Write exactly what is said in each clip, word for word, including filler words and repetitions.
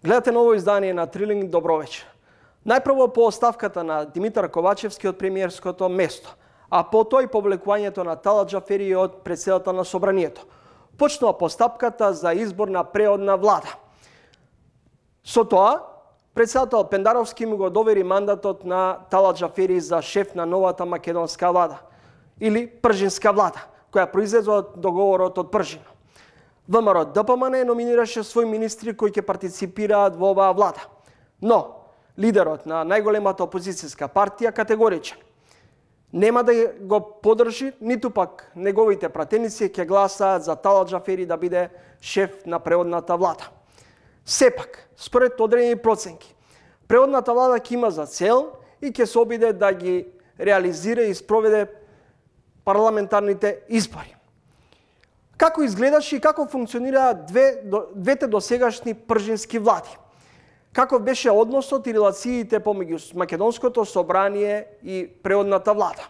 Гледате ново издание на Трилинг, добро вечер. Најпрво по оставката на Димитар Ковачевски од премиерското место, а потоа и повлекувањето на Талат Џафери од претседател на Собранието. Почнува постапката за избор на преодна влада. Со тоа, претседател Пендаровски му го довери мандатот на Талат Џафери за шеф на новата македонска влада, или пржинска влада, која произлезе од договорот од Пржино. ВМРО ДПМН номинираше своји министри кои ќе партиципираат во оваа влада. Но, лидерот на најголемата опозицијска партија категоричен. Нема да го подржи, ниту пак неговите пратеници ќе гласаат за Талат Џафери да биде шеф на преодната влада. Сепак, според одредени проценки, преодната влада ќе има за цел и ќе се обиде да ги реализира и спроведе парламентарните избори. Како изгледаше и како функционираат две, двете досегашни пржински влади? Каков беше односот и релациите помеѓу Македонското собрание и преодната влада?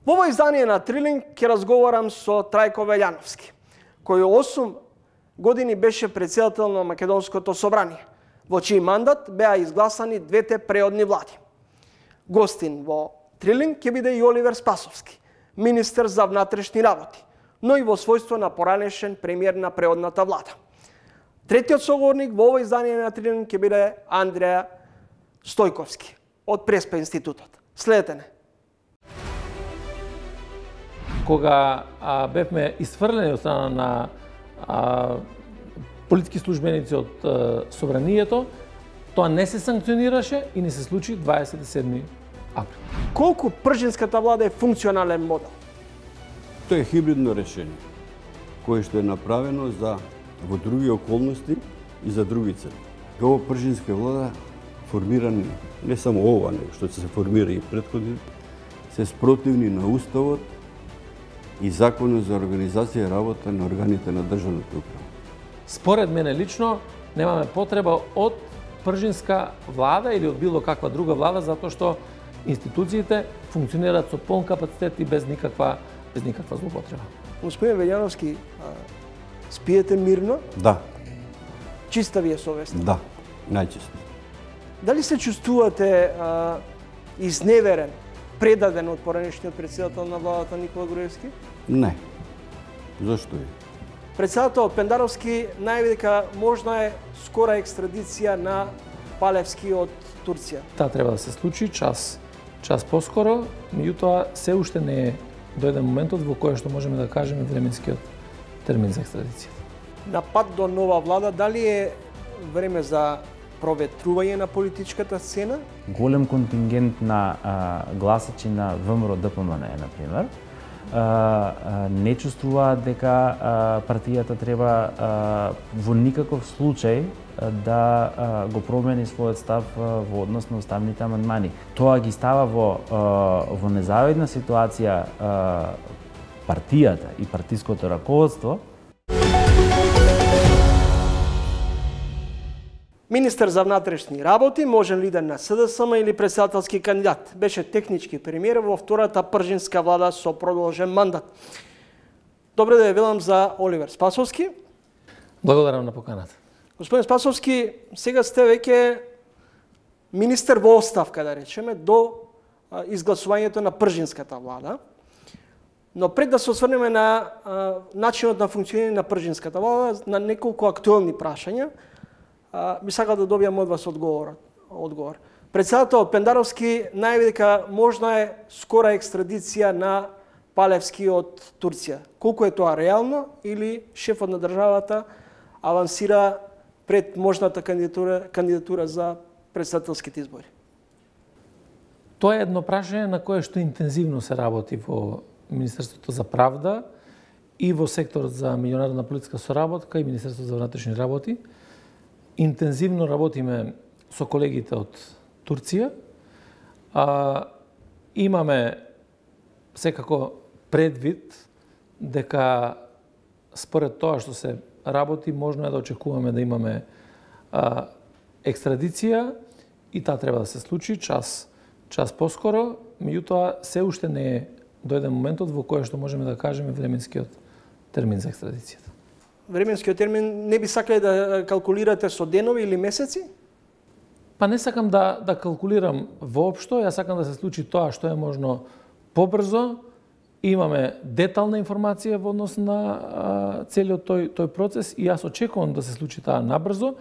Во ово издание на Трилинг ќе разговарам со Трајко Велјановски, кој осум години беше претседател на Македонското собрание, во чиј мандат беа изгласани двете преодни влади. Гостин во Трилинг ќе биде и Оливер Спасовски, министер за внатрешни работи, но и во својство на поранешен премиер на преодната влада. Третиот соговорник во ово издание на Трилинг ќе биде Андреја Стојковски од Преспа институтот. Следете не. Кога а, бевме исфрлени од страна на а, политики службеници од а, Собранието, тоа не се санкционираше и не се случи дваесет и седми април. Колку пржинската влада е функционален модел? Тоа е хибридно решение, кое што е направено за во други околности и за други цели. Ова пржинска влада формирани, не само ова, не, што се формира и претходни, се спротивни на Уставот и Законот за организација и работа на органите на државната управа. Според мене лично, немаме потреба од пржинска влада или од било каква друга влада, затоа што институциите функционираат со полн капацитет и без никаква без никаква злоупотреба. Господин Велјановски, спиете мирно? Да. Чиста ви е совест? Да, најчисто. Дали се чувствувате а, изневерен, предаден од поранешниот претседател на владата Никола Груевски? Не. Зошто е? Претседател Пендаровски најави дека можна е скора екстрадиција на Палевски од Турција. Таа треба да се случи час час поскоро, меѓутоа се уште не е дојде моментот во кој што можеме да кажеме временскиот термин за екстрадиција. На пат до нова влада, дали е време за проветрување на политичката сцена? Голем контингент на а, гласачи на ВМРО ДПМН, например, а, а, не чувствуваат дека а, партијата треба а, во никаков случај да а, го промени својот став а, во однос на уставните амандмани. Тоа ги става во, а, во незавидна ситуација а, партијата и партиското раководство. Министер за внатрешни работи, можен лидер на СДСМ или претседателски кандидат. Беше технички премиер во втората пржинска влада со продолжен мандат. Добре да ја велам за Оливер Спасовски. Благодарам на поканата. Господин Спасовски, сега сте веќе министер во оставка, да речеме, до изгласувањето на пржинската влада. Но пред да се осврнеме на а, начинот на функционирање на пржинската влада, на неколку актуелни прашања, а, би сакал да добијам од вас одговор. одговор. Претседател Пендаровски најави дека можна е скора екстрадиција на Палевски од Турција. Колку е тоа реално или шефот на државата авансира пред можната кандидатура, кандидатура за претседателските избори? Тоа е едно прашање на кое што интензивно се работи во Министерството за правда и во секторот за меѓународна политичка соработка и Министерството за внатрешни работи. Интензивно работиме со колегите од Турција. А, имаме секако предвид дека според тоа што се работи, можно е да очекуваме да имаме а, екстрадиција и таа треба да се случи час час поскоро, меѓутоа се уште не е дојде моментот во кој што можеме да кажеме временскиот термин за екстрадицијата. временскиот термин не би сакале да калкулирате со денови или месеци? Па не сакам да да калкулирам воопшто, јас сакам да се случи тоа што е можно побрзо. Имаме детална информација во однос на а, целиот тој тој процес и јас очекувам да се случи таа набрзо,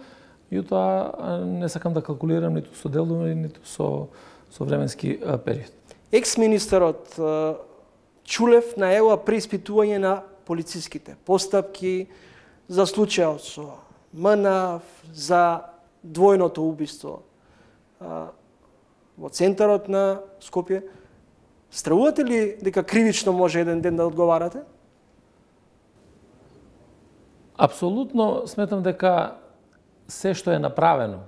јутоа не сакам да калкулирам ниту со делови, ниту со со временски а, период. Екс-министерот Чулев најавува преиспитување на полициските постапки за случајот со МНАФ, за двојното убиство а, во центарот на Скопје. Стравувате ли дека кривично може еден ден да одговарате? Апсолутно сметам дека се што е направено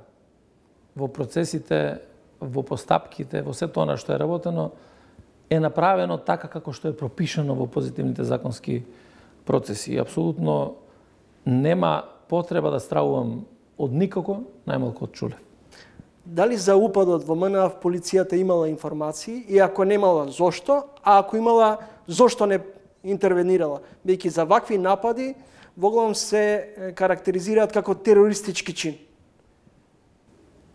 во процесите, во постапките, во се тоа што е работено, е направено така како што е пропишано во позитивните законски процеси. И апсолутно нема потреба да стравувам од никако, најмалку од Чулев. Дали за упадот во МНАФ полицијата имала информации и ако немала, зошто? А ако имала, зошто не интервенирала? Бејќи за вакви напади воглавом се карактеризираат како терористички чин.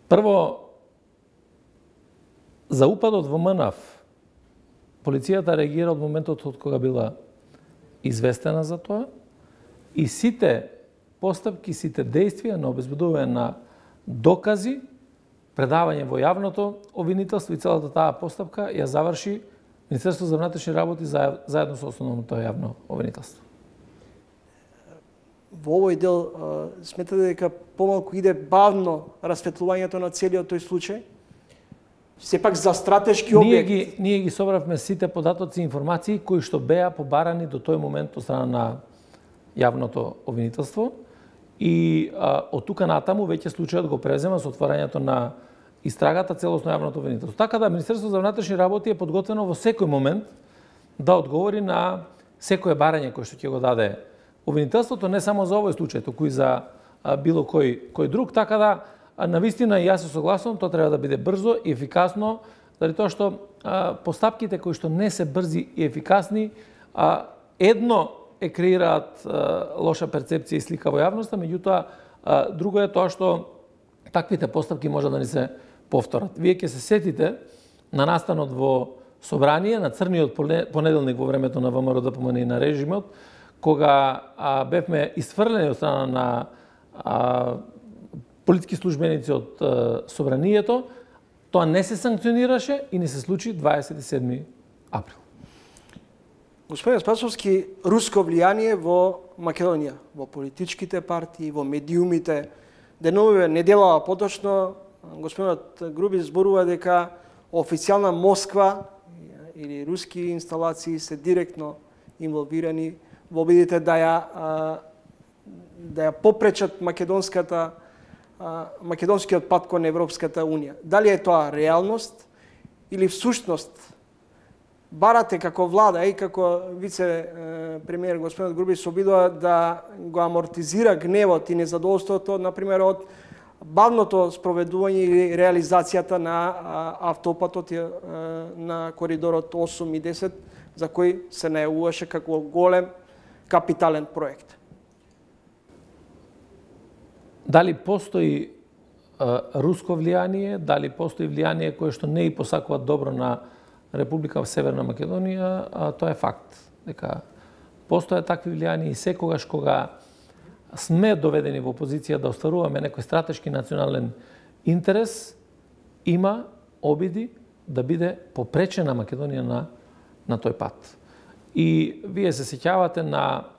Прво, за упадот во МНАФ полицијата реагира од моментот од кога била известена за тоа и сите постапки, сите действија на обезбедување на докази, предавање во јавното обвинителство и целата таа постапка ја заврши Министерството за внатрешни работи заедно со основното јавно обвинителство. Во овој дел сметате дека помалку иде бавно расветлувањето на целиот тој случај? Сепак за стратешки објект. Ние ги, ние ги собравме сите податоци и информации кои што беа побарани до тој момент од страна на јавното обвинителство и а, од тука натаму веќе случајот го презема со отворањето на истрагата целосно јавното обвинителство. Така да Министерството за внатрешни работи е подготвено во секој момент да одговори на секое барање кое што ќе го даде обвинителството, не само за овој случај, туку и за а, било кој кој друг, така да навистина и јас се согласувам, тоа треба да биде брзо и ефикасно, заради тоа што а, постапките кои што не се брзи и ефикасни, а, едно е креираат а, лоша перцепција и слика во јавноста, меѓутоа а, друго е тоа што таквите постапки може да ни се повторат. Вие ќе се сетите на настанот во Собрание, на црниот понеделник во времето на ВМРО-ДПМН и на режимот, кога а, бевме исфрлени од страна на а, политички службеници од а, Собранието, тоа не се санкционираше и не се случи дваесет и седми април. Господин Спасовски, руско влијание во Македонија, во политичките партии, во медиумите, деновиве неделава поточно, господинот Груби зборува дека официјална Москва или руски инсталации се директно инволвирани во обидите да ја да ја попречат македонската македонскиот пат кон Европската унија. Дали е тоа реалност или всушност барате како влада и како вице премиер господинот Груби се обидува да го амортизира гневот и незадоволството, например, од бавното спроведување или реализацијата на автопатот на коридорот осум и десет, за кој се најавуваше како голем капитален проект. Дали постои а, руско влијание, дали постои влијание кое што не и посакува добро на Република Северна Македонија, а, тоа е факт. Дека постојат такви влијани и секогаш кога сме доведени во позиција да остваруваме некој стратешки национален интерес, има обиди да биде попречена Македонија на, на тој пат. И вие се сеќавате на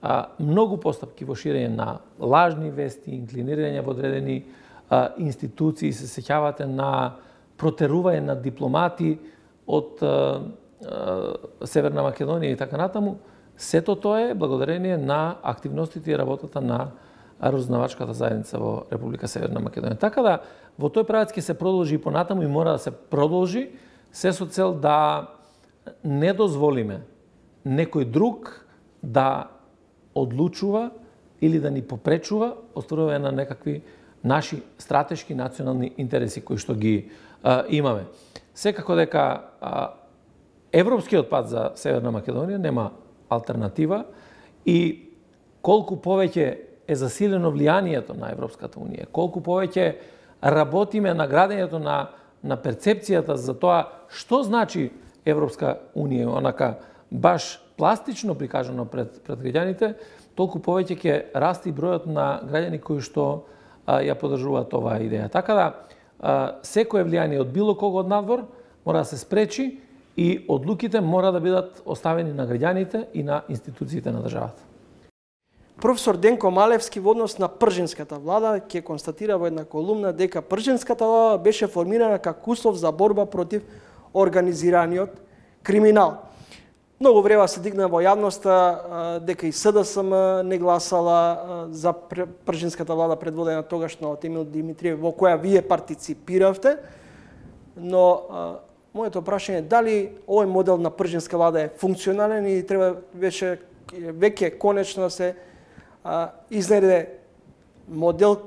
а, многу постапки во ширење на лажни вести, инклинирање во одредени а, институции, се сеќавате на протерување на дипломати од а, а, Северна Македонија и така натаму. Сето тоа е благодарение на активностите и работата на разузнавачката заедница во Република Северна Македонија. Така да, во тој правец ќе се продолжи и понатаму и мора да се продолжи, се со цел да не дозволиме некој друг да одлучува или да ни попречува остварување на некакви наши стратешки национални интереси кои што ги а, имаме. Секако дека а, европскиот пат за Северна Македонија нема алтернатива и колку повеќе е засилено влијанието на Европската унија, колку повеќе работиме на градењето на, на перцепцијата за тоа што значи Европска унија, онака баш пластично прикажано пред, пред граѓаните, толку повеќе ќе расти бројот на граѓани кои што а, ја поддржуваат оваа идеја. Така да, а, секое влијание од било кого од надвор мора да се спречи и одлуките мора да бидат оставени на граѓаните и на институциите на државата. Професор Денко Малевски во однос на пржинската влада ќе констатира во една колумна дека пржинската влада беше формирана како услов за борба против организираниот криминал. Многу време се дигна во јавноста дека и СДСМ не гласала за пржинската влада предводена тогашно од Емил Димитриев, во која вие партиципиравте, но моето прашање е дали овој модел на пржинска влада е функционален и треба веќе веќе конечно да се а, изнеде модел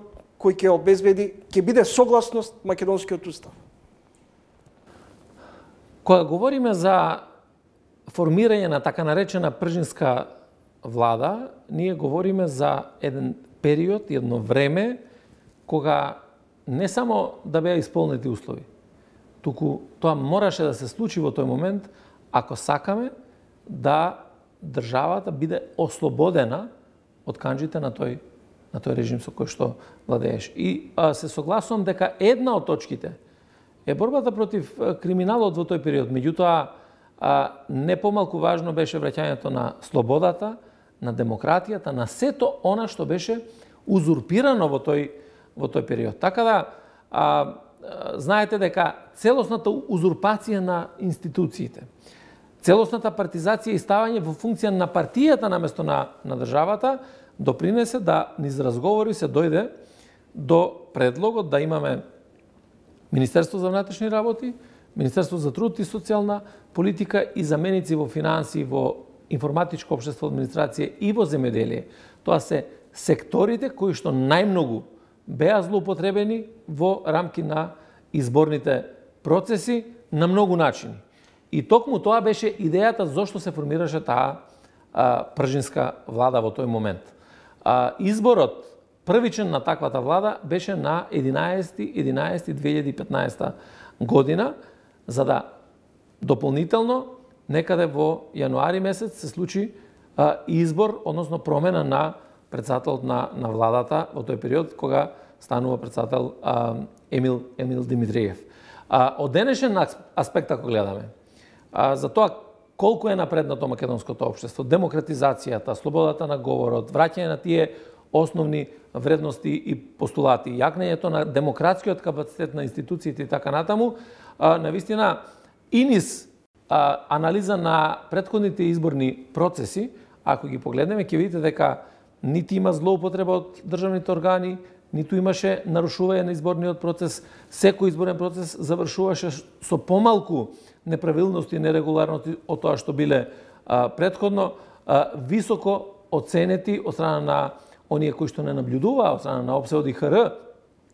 кој ќе обезбеди, ќе биде согласност македонскиот устав. Кога говориме за формирање на така наречена пржинска влада, ние говориме за еден период, едно време кога не само да беа исполнети услови, туку тоа мораше да се случи во тој момент ако сакаме да државата биде ослободена од канџите на тој на тој режим со кој што владееш. И а, се согласувам дека една од точките е борбата против криминалот во тој период. Меѓутоа, а, не помалку важно беше враќањето на слободата, на демократијата, на сето она што беше узурпирано во тој во тој период. Така да, а, знаете дека целосната узурпација на институциите, целосната партизација и ставање во функција на партијата наместо на, на државата допринесе да низ разговори се дојде до предлогот да имаме Министерство за внатрешни работи, Министерство за труд и социјална политика и заменици во финансии, во информатичко општество, администрација и во земјоделие. Тоа се секторите кои што најмногу беа злоупотребени во рамки на изборните процеси на многу начини. И токму тоа беше идејата зошто се формираше таа а, пржинска влада во тој момент. А, изборот првичен на таквата влада беше на единаесети единаесети две илјади и петнаесета година, за да дополнително некаде во јануари месец се случи а, избор, односно промена на председателот на, на владата во тој период кога станува председател а, Емил, Емил Димитриев. А, од денешен аспект ако гледаме, а, за тоа колку е напреднато македонското општество, демократизацијата, слободата на говорот, враќање на тие основни вредности и постулати, јакнењето на демократскиот капацитет на институциите и така натаму, а, навистина и низ а, анализа на претходните изборни процеси, ако ги погледнеме, ќе видите дека нити има злоупотреба од државните органи, ниту имаше нарушување на изборниот процес. Секој изборен процес завршуваше со помалку неправилности и нерегуларности од тоа што биле а, предходно, а, високо оценети од страна на оние кои што не наблюдуваа, од страна на ОПСЕ, ОДИХР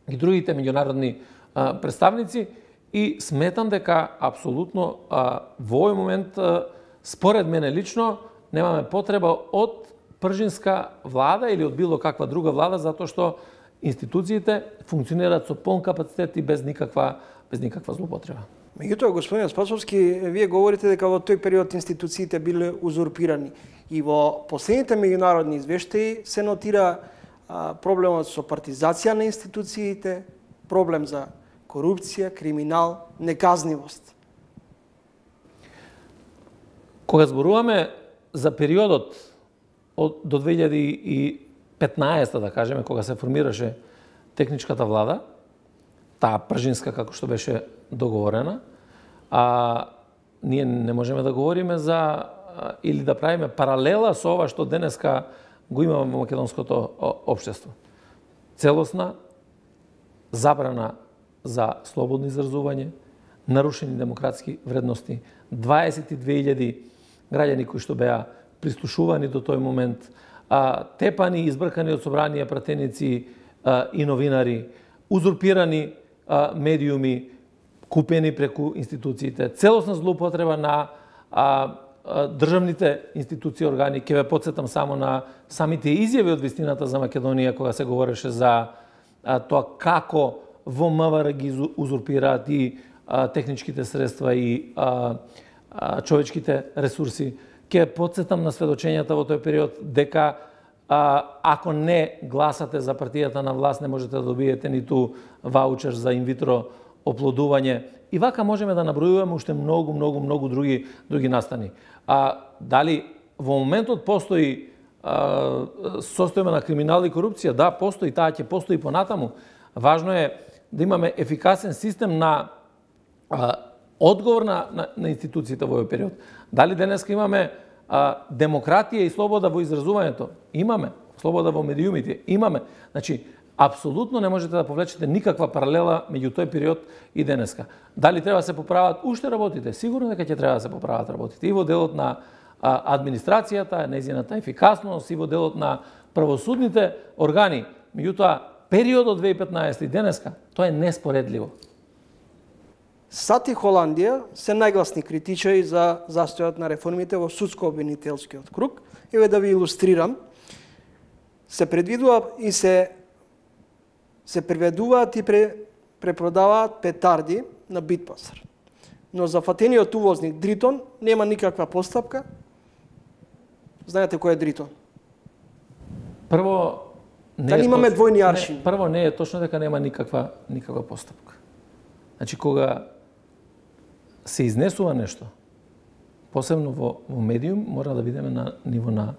и другите меѓународни а, представници. И сметам дека апсолутно а, во овој момент, а, според мене лично, немаме потреба од пржинска влада или од било каква друга влада, затоа што институциите функционираат со полн капацитет и без никаква без никаква злоупотреба. Меѓутоа, господин Спасовски, вие говорите дека во тој период институциите биле узурпирани и во последните меѓународни извештаи се нотира а, проблемот со партизација на институциите, проблем за корупција, криминал, неказнивост. Кога зборуваме за периодот од до две илјади и петнаесета, да кажеме, кога се формираше техничката влада, таа пржинска како што беше договорена, а ние не можеме да говориме за или да правиме паралела со ова што денеска го имаме во македонското општество. Целосна забрана за слободно изразување, нарушени демократски вредности, дваесет и две илјади граѓани кои што беа прислушувани до тој момент, а, тепани, избркани од собранија пратеници а, и новинари, узурпирани а, медиуми, купени преку институциите, целосна злоупотреба на а, државните институции, органи, ќе ве потсетам само на самите изјави од вистината за Македонија, кога се говореше за а, тоа како во МВР ги узурпираат и а, техничките средства и а, а, човечките ресурси. Ќе потсетам на сведочењата во тој период дека а, ако не гласате за партијата на власт, не можете да добиете ниту ваучер за инвитро оплодување. И вака можеме да набројуваме уште многу, многу, многу други други настани. А дали во моментот постои а, состојба на криминал и корупција? Да, постои, таа ќе постои понатаму. Важно е да имаме ефикасен систем на а, одговор на, на, на институциите во овој период. Дали денеска имаме а, демократија и слобода во изразувањето? Имаме. Слобода во медиумите? Имаме. Значи, апсолутно не можете да повлечете никаква паралела меѓу тој период и денеска. Дали треба да се поправат уште работите? Сигурно дека ќе треба да се поправат работите. И во делот на а, администрацијата, нејзината ефикасност, и во делот на правосудните органи. Меѓутоа, периодот две илјади и петнаесета и денеска, тоа е неспоредливо. САД и Холандија се најгласни критичари за застојот на реформите во судско-обвинителскиот круг. Еве да ви илустрирам. Се предвидува и се се преведуваат и пре, препродаваат петарди на Битпасар. Но за фатениот увозник Дритон нема никаква постапка. Знаете кој е Дритон? Прво, не Дали е имаме точ... двојни аршини? Не, прво не е точно дека нема никаква никаква постапка. Значи кога се изнесува нешто, посебно во, во медиум, мора да видиме на ниво на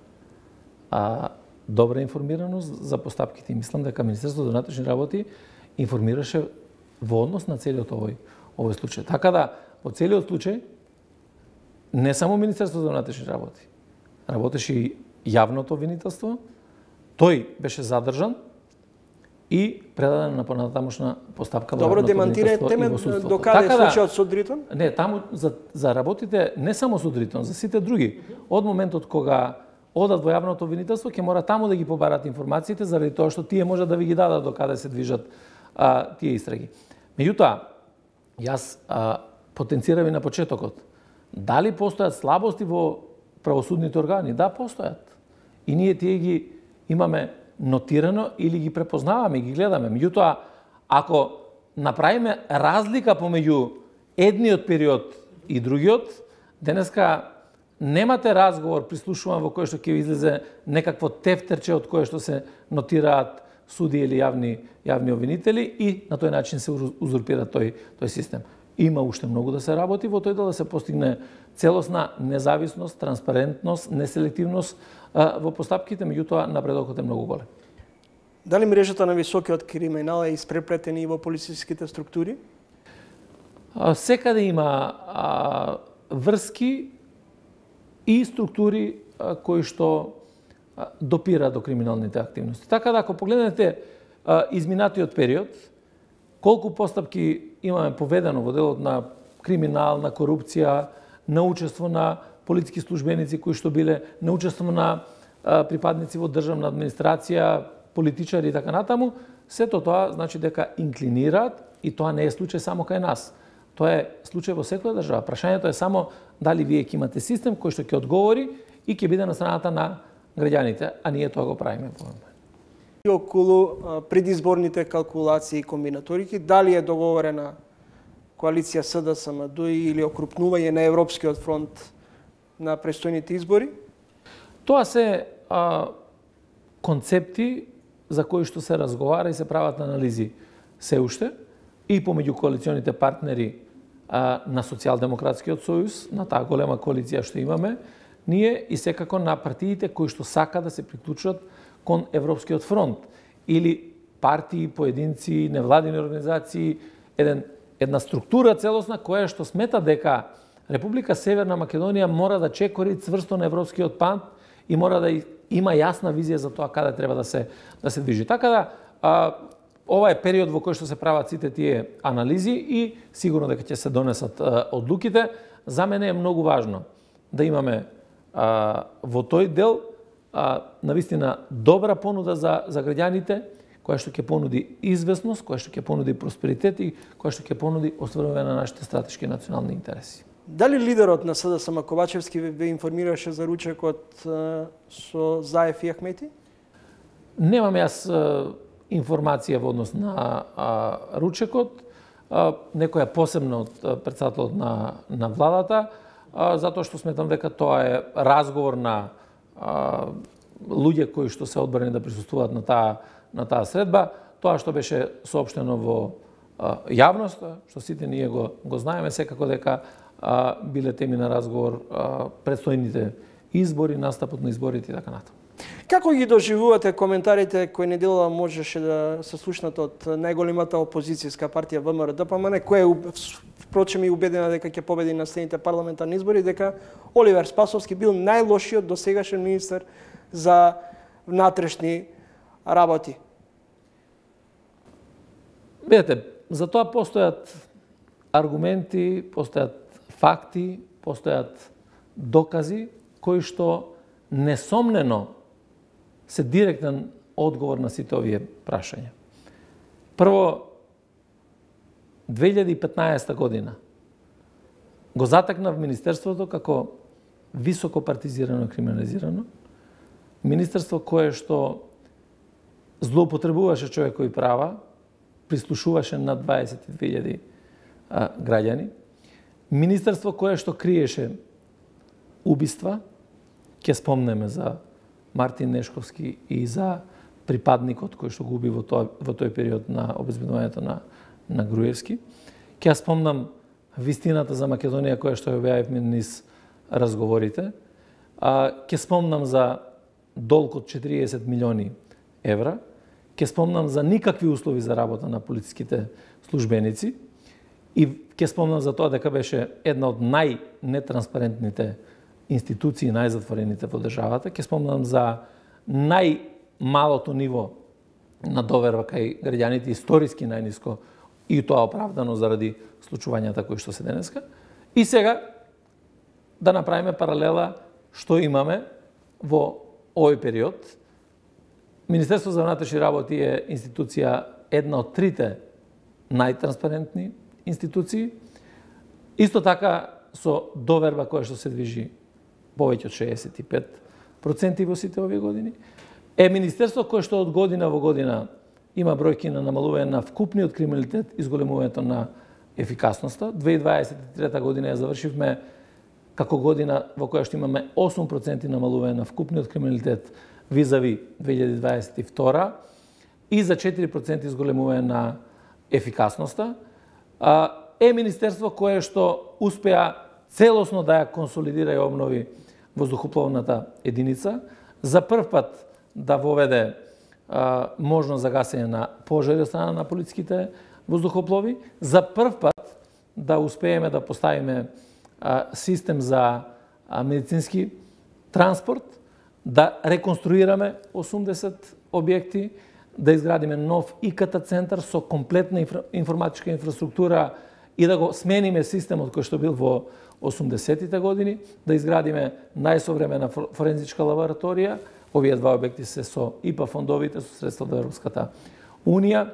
а, добра информираност за постапките. И мислам дека Министерството за внатрешни работи информираше во однос на целиот овој овој случај. Така да, во целиот случај, не само Министерството за внатрешни работи, работеше и јавното обвинителство, тој беше задржан и предаден на понатамошна постапка во Добро, јавното демантирајте обвинителство и ме во судството. докаде Така да, случајот со Дритон? Не, таму за, за работите, не само со Дритон, за сите други. Од моментот кога одат во јавното обвинителство, ќе мора таму да ги побарат информациите, заради тоа што тие може да ви ги дадат до каде се движат а, тие истраги. Меѓутоа, јас а, потенцирам и на почетокот. Дали постојат слабости во правосудните органи? Да, постојат. И ние тие ги имаме нотирано или ги препознаваме, ги гледаме. Меѓутоа, ако направиме разлика помеѓу едниот период и другиот, денеска немате разговор, прислушувам, во кој што ќе излезе некакво тефтерче од кое што се нотираат суди или јавни јавни обвинители и на тој начин се узурпира тој тој систем. Има уште многу да се работи во тој дел, да се постигне целосна независност, транспарентност, неселективност а, во постапките, меѓутоа напредокот е многу голем. Дали мрежата на високиот криминал е испреплетена и во полициските структури? А, секаде има а, врски и структури а, кои што а, допира до криминалните активности. Така да, ако погледнете а, изминатиот период, колку постапки имаме поведено во делот на криминал, на корупција, на учество на политички службеници кои што биле, на учество на а, припадници во државна администрација, политичари и така натаму, сето тоа значи дека инклинираат и тоа не е случај само кај нас. Тоа е случај во секоја држава. Прашањето е само дали вие ќе имате систем кој што ќе одговори и ќе биде на страната на граѓаните, а ние тоа го правиме во момент. И околу предизборните калкулации и комбинаторики, дали е договорена коалиција СДСМ или окрупнување на Европскиот фронт на престојните избори? Тоа се а, концепти за кои што се разговара и се прават анализи се уште и помеѓу коалиционите партнери а, на Социјалдемократскиот сојуз, на таа голема коалиција што имаме, ние и секако на партиите кои што сака да се приклучат кон Европскиот фронт или партии, поединци, невладини организации, еден, една структура целосна која што смета дека Република Северна Македонија мора да чекори цврсто на Европскиот пат и мора да има јасна визија за тоа каде треба да се да се движи. Така да, а, ова е период во кој што се прават сите тие анализи и сигурно дека ќе се донесат а, одлуките. За мене е многу важно да имаме а, во тој дел а, навистина добра понуда за за граѓаните, која што ќе понуди известност, која што ќе понуди просперитет и која што ќе понуди остварување на нашите стратешки национални интереси. Дали лидерот на СДСМ Ковачевски ве информираше за ручекот со Заев и Ахмети? Немам јас информација во однос на а, ручекот, а, некоја посебно од председателот на, на владата, а, затоа што сметам дека тоа е разговор на а, луѓе кои што се одбрани да присуствуваат на таа на таа средба. Тоа што беше соопштено во а, јавноста, што сите ние го го знаеме, секако дека а, биле теми на разговор а, предстојните избори, настапот на изборите и така натаму. Како ги доживувате коментарите кои неделава можеше да се слушнат од најголемата опозицијска партија ВМРО-ДПМН, која впрочем и убедена дека ќе победи на следните парламентарни избори, дека Оливер Спасовски бил најлошиот досегашен министер за внатрешни работи? Видете, за тоа постојат аргументи, постојат факти, постојат докази кои што несомнено се директен одговор на сите овие прашања. Прво, две илјади и петнаесета година го затекнав Министерството како високо партизирано и криминализирано, Министерство кое што злоупотребуваше човекови права, прислушуваше над дваесет и две илјади граѓани, Министерство кое што криеше убиства, ќе спомнеме за Мартин Нешковски и за припадникот кој што го уби во, тоа, во тој период на обезбедувањето на, на Груевски. Ќе спомнам вистината за Македонија која што ја објавивме низ разговорите. А, ќе спомнам за долг од четириесет милиони евра. Ќе спомнам за никакви услови за работа на полициските службеници. И ќе спомнам за тоа дека беше една од најнетранспарентните институции, најзатворените во државата. Ќе спомнам за најмалото ниво на доверба кај граѓаните, историски најниско, и тоа оправдано заради случувањата кои што се денеска. И сега да направиме паралела што имаме во овој период. Министерство за внатрешни работи е институција, една од трите најтранспарентни институции. Исто така со доверба која што се движи повеќе од шеесет и пет проценти во сите овие години. Е Министерство кое што од година во година има бројки на намалување на вкупниот криминалитет и зголемувањето на ефикасноста. две илјади дваесет и трета година ја завршивме како година во која што имаме осум проценти намалување на вкупниот криминалитет визави две илјади дваесет и втора и за четири проценти зголемување на ефикасноста. Е Министерство кое што успеа целосно да ја консолидира и обнови воздухопловната единица, за прв пат да воведе а, можност за гасење на пожари од страна на полициските воздухоплови, за прв пат да успееме да поставиме а, систем за а, медицински транспорт, да реконструираме осумдесет објекти, да изградиме нов И К Т центар со комплетна инфра, информатичка инфраструктура и да го смениме системот кој што бил во осумдесетите години, да изградиме најсовремена форензичка лабораторија. Овие два објекти се со И П А фондовите, со средства од Европската Унија,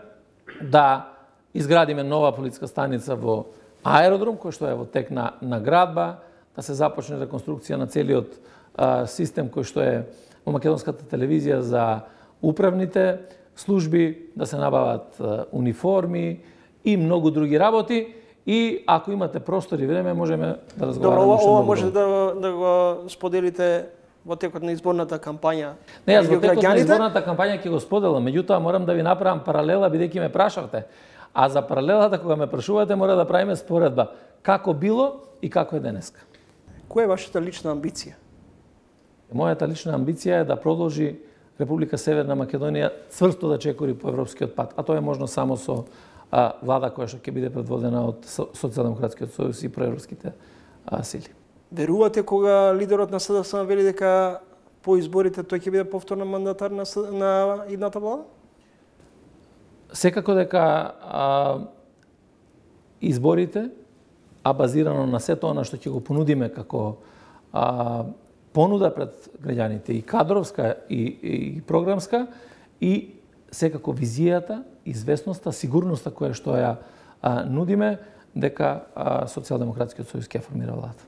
да изградиме нова полициска станица во аеродром, кој што е во тек на, на градба, да се започне реконструкција на целиот а, систем кој што е во македонската телевизија за управните служби, да се набават а, униформи и многу други работи. И ако имате простор и време, можеме да разговараме. Добро, ова, ова може да, да го споделите во текот на изборната кампања. Не, јас во текот на изборната кампања ќе го споделам, меѓутоа морам да ви направам паралела бидејќи ме прашавте. А за паралелата кога ме прашувате мора да правиме споредба како било и како е денеска. Која е вашата лична амбиција? Мојата лична амбиција е да продолжи Република Северна Македонија цврсто да чекори по европскиот пат, а тоа е можно само со а, влада која што ќе биде предводена од Социјалдемократскиот сојуз и проевропските а, сили. Верувате кога лидерот на СДСМ вели дека по изборите тој ќе биде повторно мандатар на, на идната влада? Секако дека а, изборите, а базирано на сето она што ќе го понудиме како а, понуда пред граѓаните, и кадровска, и, и програмска, и секако визијата, известноста, сигурноста која што ја а, нудиме, дека Социјалдемократскиот сојуз ќе формира владата.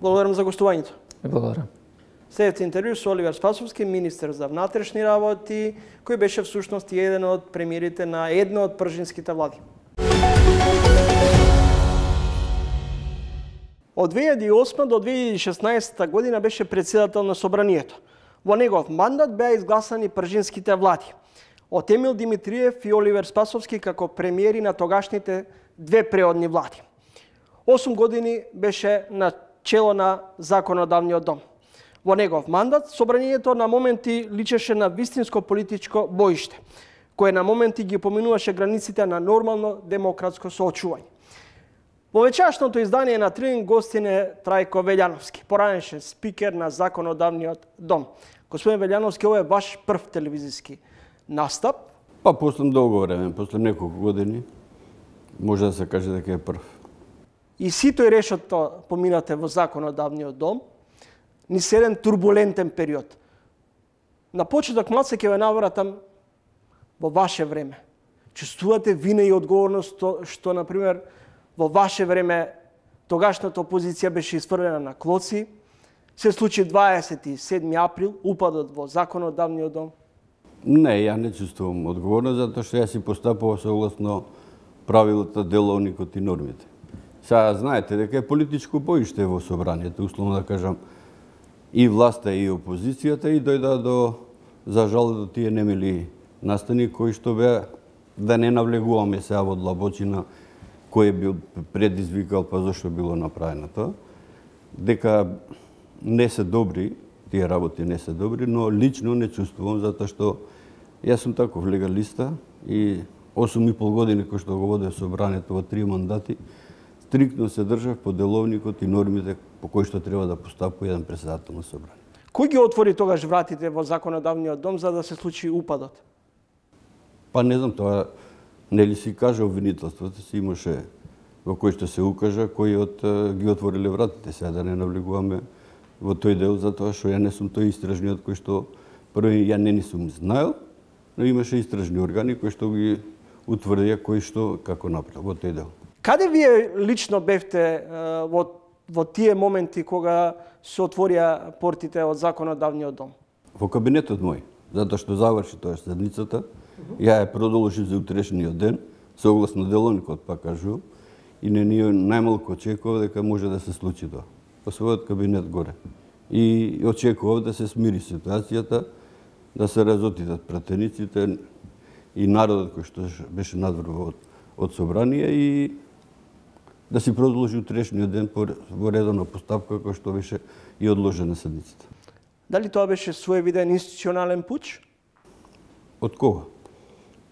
Благодарам за гостувањето. Ви благодарам. Следете интервју со Оливер Спасовски, министер за внатрешни работи, кој беше всушност еден од премиерите на една од пржинските влади. Од две илјади и осма до две илјади и шеснаесета година беше председател на Собранието. Во негов мандат беа изгласани пржинските влади. Од Емил Димитриев и Оливер Спасовски како премиери на тогашните две преодни влади. Осум години беше на чело на законодавниот дом. Во негов мандат Собранието на моменти личеше на вистинско политичко боиште, кое на моменти ги поминуваше границите на нормално демократско соочување. Во вечерашното издание на Трилинг гостин е Трајко Велјановски, поранешен спикер на законодавниот дом. Господин Велјановски, ова е ваш прв телевизиски настап? Па после долго време, после неколку години, може да се каже дека е прв. И сито и решето поминате во законодавниот дом, ни се еден турбулентен период. На почеток малце ќе ве навратам во ваше време. Чувствувате вина и одговорност што, што например, во ваше време тогашната опозиција беше изфрлена на клоци, се случи дваесет и седми април, упадот во законодавниот дом? Не, ја не чувствувам одговорност, затоа што јас си постапував согласно правилата, деловникот и нормите. Сега знаете дека е политичко боиште во собранието, условно да кажам, и власта и опозицијата, и дојда до, за жал, до тие немили настани кои што беа, да не навлегуваме сега во длабочина кој е бил предизвикал, па зашто било направено тоа, дека не се добри, тие работи не се добри, но лично не чувствувам, затоа што јас сум таков легалиста и осум и пол години кој што го водев собранието во три мандати, стриктно се држав по деловникот и нормите по кои што треба да постапува еден претседател на собрание. Кој ги отвори тогаш вратите во законодавниот дом за да се случи упадот? Па не знам, тоа нели си кажа обвинителството, си имаше во кој што се укажа, кои од ги отвориле вратите, сега да не навлегуваме во тој дел, затоа што ја не сум тој истражниот кој што први ја не ни сум знаел, но имаше истражни органи кои што ги утврдија кој што како направил во тој дел. Каде вие лично бевте во, во тие моменти кога се отворија портите од законодавниот дом? Во кабинетот мој, затоа што заврши тоа седницата, ја ја продолжи за утрешниот ден, согласно деловникот, па кажувам, и не ни најмалку очекував дека може да се случи тоа. По својот кабинет горе. И очекував да се смири ситуацијата, да се разотидат пратениците и народот кој што беше надвор од, од собрание и да си продолжи утрешниот ден во редовна постапка кој што беше и одложена седницата. Дали тоа беше своевиден институционален пуч? Од кога?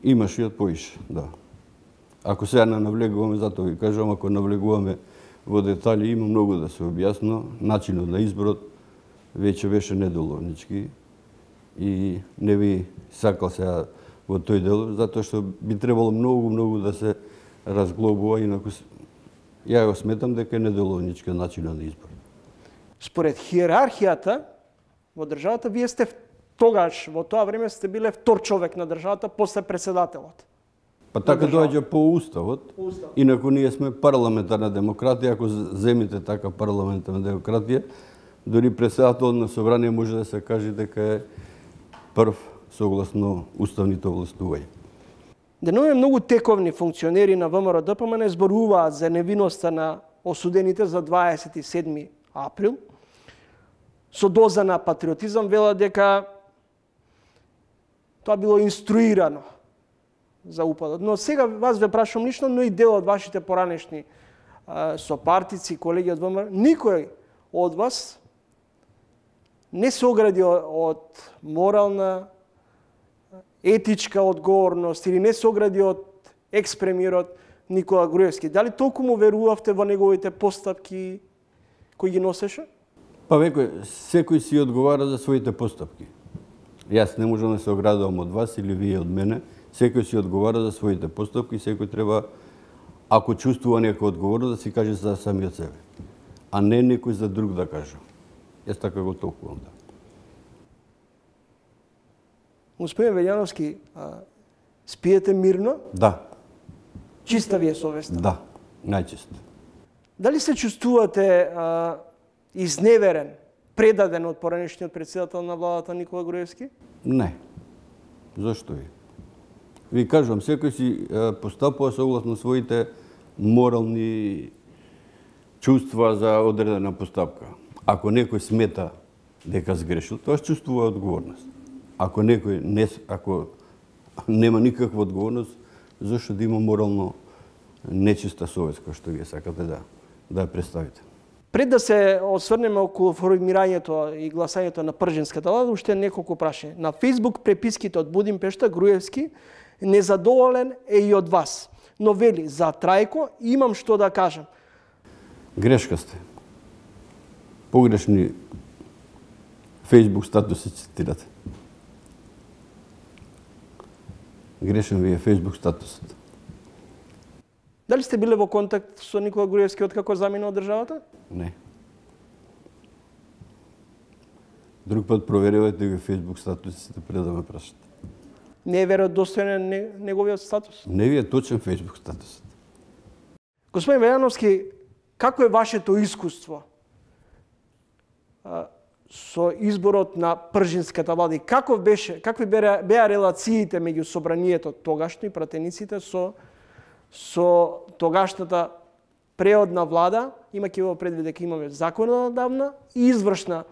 Имаше и од поише, да. Ако сега не навлегуваме, затоа ви кажам, ако навлегуваме во детали, има многу да се објасно. Начинот на изборот веќе беше недоловнички и не би сакал сега во тој дел, затоа што би требало многу, многу да се разглобува, инаку ја го сметам дека е недоловнички начинот на избор. Според хиерархијата во државата, вие сте тогаш, во тоа време сте биле втор човек на државата после председателот. Па така доаѓа по уставот. По уставот. Инаку ние сме парламентарна демократија, ако земите така парламентарна демократија, дори председателот на собрание може да се каже дека е прв согласно уставните овластувања. Денове многу тековни функционери на ВМРО Д П М Н зборуваат за невиноста на осудените за дваесет и седми април. Со доза на патриотизам велат дека тоа било инструирано за упадот. Но сега вас ве прашам лично, но и дел од вашите поранешни а, сопартици, колеги од ВМРО, никој од вас не се огради од морална, етичка одговорност или не се огради од екс-премиерот Никола Груевски. Дали толку му верувавте во неговите постапки кои ги носеше? Па векој, секој си одговара за своите постапки. Јас не можам да се оградувам од вас или вие од мене. Секој си одговара за своите постапки, секој треба, ако чувствува некоја одговорност, да си каже за самиот себе, а не некој за друг да каже. Јас така го толкувам. Да. Господин Велјановски, а, спиете мирно? Да. Чиста ви е совеста? Да. најчесто. Дали се чувствувате а, изневерен, предаден од поранешниот претседател на владата Никола Груевски? Не. Зошто ви? Ви кажувам, секој си е, постапува согласно своите морални чувства за одредена постапка. Ако некој смета дека сгрешил, тоа чувствува одговорност. Ако некој не, ако нема никаква одговорност, зашто да има морално нечиста совест, која што вие сакате да да ја представите? Пред да се осврнеме околу формирањето и гласањето на пржинската влада, уште неколку прашања. На Фејсбук преписките од Будимпешта Груевски незадоволен е и од вас, но вели за Трајко имам што да кажам. Грешка сте. Погрешни Фејсбук статуси цитирате. Грешен ви е Фејсбук статусот. Дали сте биле во контакт со Никола Груевски откако замина од државата? Не. Друг пат проверувате ги Фејсбук статусите пред да ме прашате. Не е веродостоен неговиот статус? Не ви е точен Фејсбук статусот. Господин Вејановски, како е вашето искуство а, со изборот на пржинската влада и како беше, какви беа, беа релациите меѓу собранието тогашно и пратениците со со тогашната преодна влада, имајќи во предвид дека имаме законодавна и извршна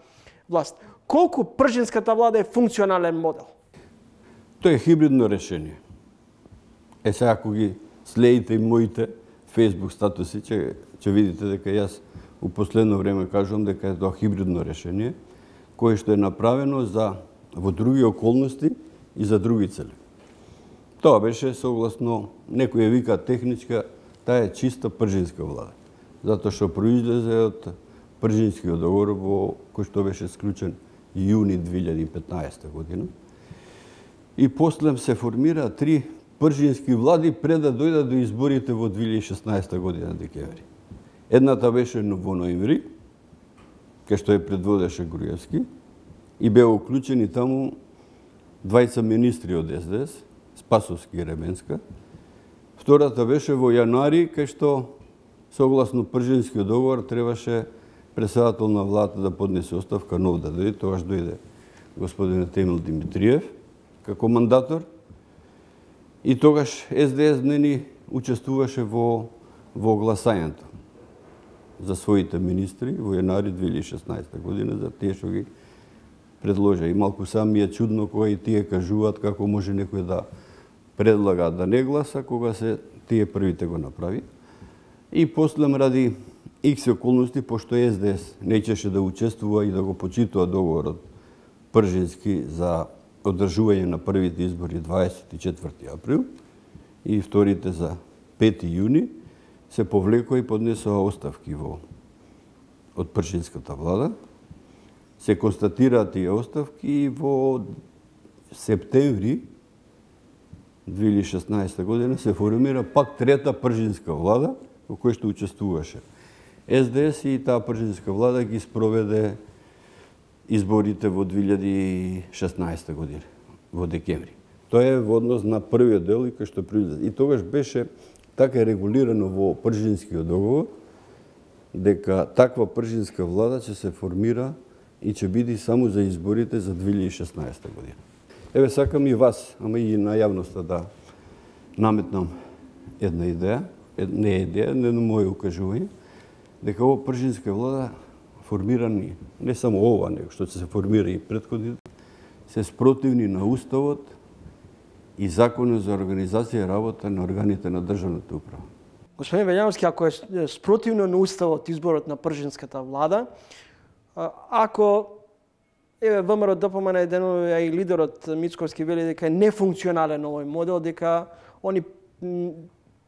власт. Колку пржинската влада е функционален модел? Тоа е хибридно решение. Е, сега ако ги следите и моите Фејсбук статуси, ќе ќе видите дека јас у последно време кажувам дека е тоа хибридно решение, кое што е направено за во други околности и за други цели. Тоа беше согласно, некој ја вика техничка, таа е чиста пржинска влада. Затоа што произлезе од пржинскиот договор во кој што беше склучен јуни две илјади и петнаесета година. И после се формира три пржински влади пред да дојдат до изборите во две илјади и шеснаесета година декември. Едната беше во ноември, кај што ја предводеше Груевски, и беа уклучени таму двајца министри од Ес Де Ес, Спасовски и Ременска. Втората беше во јануари, кај што согласно пржинскиот договор требаше председател на владата да поднесе оставка, нов да дојде. Тогаш дојде господин Темил Димитриев како мандатор. И тогаш Ес Де Ес не ни учествуваше во во гласањето за своите министри во јануари две илјади и шеснаесета година, за тие што ги предложа. И малку сам ми е чудно кога и тие кажуваат како може некој да предлага да не гласа, кога се тие првите го направи. И после ради икс околности, пошто Ес Де Ес неќеше да учествува и да го почитува договорот пржински за одржување на првите избори дваесет и четврти април и вторите за пети јуни, се повлекоа и поднесоа оставки во од пржинската влада. Се констатираат тие оставки и во септември две илјади и шеснаесета година се формира пак трета пржинска влада во која што учествуваше Ес Де Ес, и таа пржинска влада ги спроведе изборите во две илјади и шеснаесета година во декември. Тоа е во однос на првиот дел и кај што произлезе. И тогаш беше така регулирано во пржинскиот договор дека таква пржинска влада ќе се формира и ќе биде само за изборите за две илјади и шеснаесета година. Еве, сакам и вас, ама и на јавноста да наметнам една идеја, не е идеја, не на моје укажување, дека ова пржинска влада формирани, не само ова, него што ќе се формира и претходните, се спротивни на Уставот и Законот за организација и работа на органите на државната управа. Господин Вејановски, ако е спротивно на Уставот изборот на пржинската влада, ако еве ВМРО ДПМН еден и лидерот Мицковски вели дека е нефункционален овој модел, дека они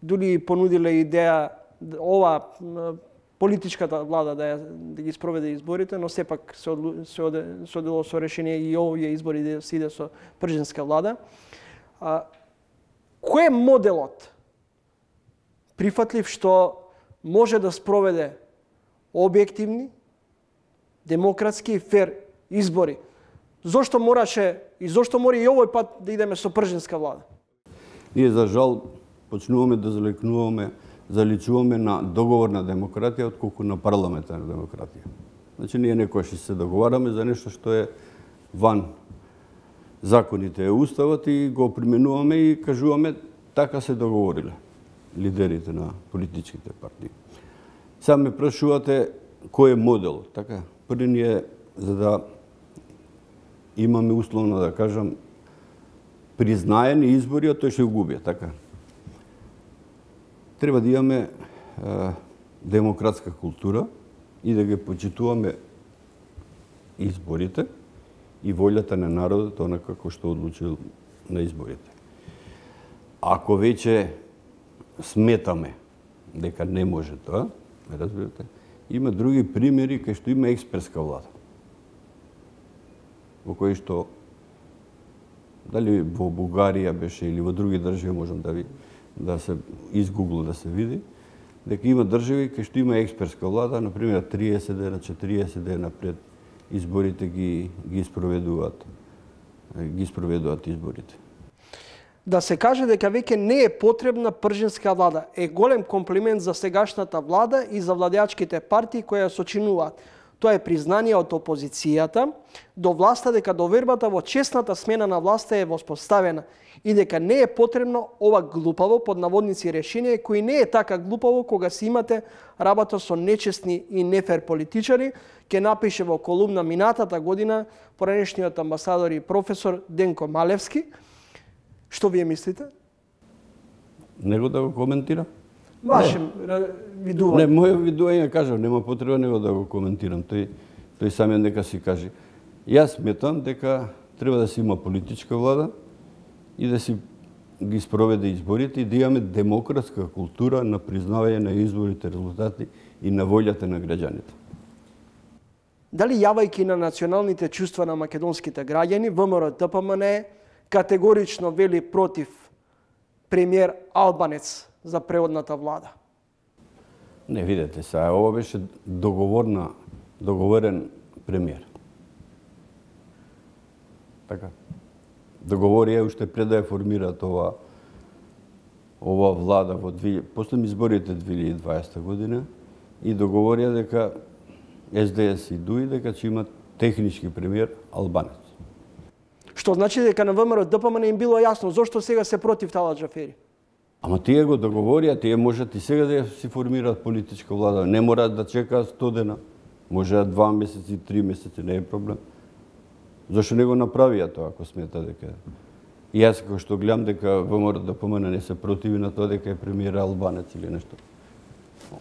дури понудиле идеја ова политичката влада да, ја, да ги спроведе изборите, но сепак се, одлу, се, оде, се одело со решение и овие избори да се иде со пржинска влада. А, кој е моделот прифатлив што може да спроведе објективни, демократски и фер избори? Зошто мораше и зошто мора и овој пат да идеме со пржинска влада? Ние, за жал, почнуваме да залекнуваме заличуваме на договорна демократија отколку на парламентарна демократија. Значи ние некогаш се договараме за нешто што е ван законите, е уставот и го применуваме и кажуваме така се договориле лидерите на политичките партии. Сега ме прашувате кој е модел, така? Први ни е за да имаме условно да кажам признаени избори, а тој ќе губи, така? Треба да имаме е, демократска култура и да ги почитуваме изборите и волјата на народот, онака како што одлучил на изборите. Ако веќе сметаме дека не може тоа, разбирате, има други примери кај што има експертска влада. Во кои што дали во Бугарија беше или во други држави можам да ви да се изгугла да се види дека има држави кај што има експертска влада, на пример триесет дена, четириесет дена пред изборите ги ги спроведуваат ги спроведуваат изборите. Да се каже дека веќе не е потребна пржинска влада е голем комплимент за сегашната влада и за владеачките партии кои ја сочинуваат. Тоа е признание од опозицијата до власта дека довербата во честната смена на власта е воспоставена и дека не е потребно ова глупаво под наводници решение кои не е така глупаво кога си имате работа со нечестни и нефер политичари, ке напише во колумна минатата година поранешниот амбасадор и професор Денко Малевски. Што вие мислите? Него да го коментирам? Ваше видување. Не, моје видување кажам, нема потреба него да го коментирам. Тој тој самиот нека си каже. Јас сметам дека треба да се има политичка влада и да си ги спроведе изборите и да имаме демократска култура на признавање на изборите резултати и на волјата на граѓаните. Дали јавајќи на националните чувства на македонските граѓани, ВМРО-ДПМН категорично вели против премиер Албанец за преодната влада? Не, видете сега, ова беше договорна, договорен премиер. Така. Договорија уште пред да ја формираат ова ова влада во после изборите две илјади и дваесета година и договорија дека Ес Де Ес и Дуи дека ќе имат технички премиер Албанец. Што значи дека на ВМРО-ДПМН им било јасно зошто сега се против Талат Џафери? Ама тие го договорија, тие можат и сега да си формираат политичка влада. Не мораат да чекаат сто дена. Можеат два месеци, три месеци, не е проблем. Зошто не го направија тоа, ако смета дека... И јас како што гледам дека ВМРО-ДПМН не се противи на тоа дека е премиер Албанец или нешто.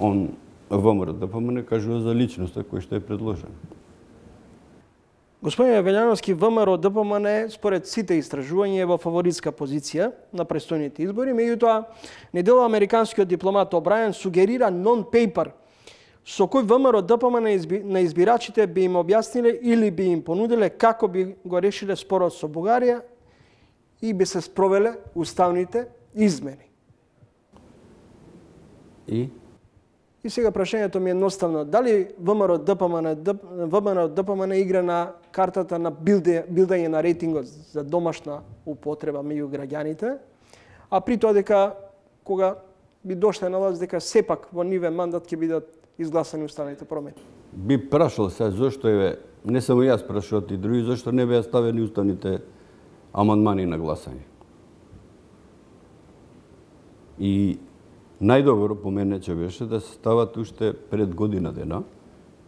Он, ВМРО-ДПМН кажува за личноста која што е предложена. Господин Јавелјановски, ВМРО-ДПМН според сите истражувања е во фаворитска позиција на престојните избори, меѓутоа недела американскиот дипломат Обрајан сугерира нон-пейпер со кој ВМРО-ДПМН на избирачите би им објасниле или би им понудиле како би го решиле спорот со Бугарија и би се спровеле уставните измени. И? И сега прашањето ми е едноставно. Дали ВМРО-ДПМН ВМРО-ДПМН игра на картата на билдање на рейтингот за домашна употреба меѓу граѓаните, а при тоа дека кога би дошле на власт дека сепак во нивен мандат ќе бидат изгласани уставните промени? Би прашал се зошто е, не само јас прашуват и други, зошто не беа ставени уставните амандмани на гласање. И најдобро по мене че беше да се стават уште пред година дена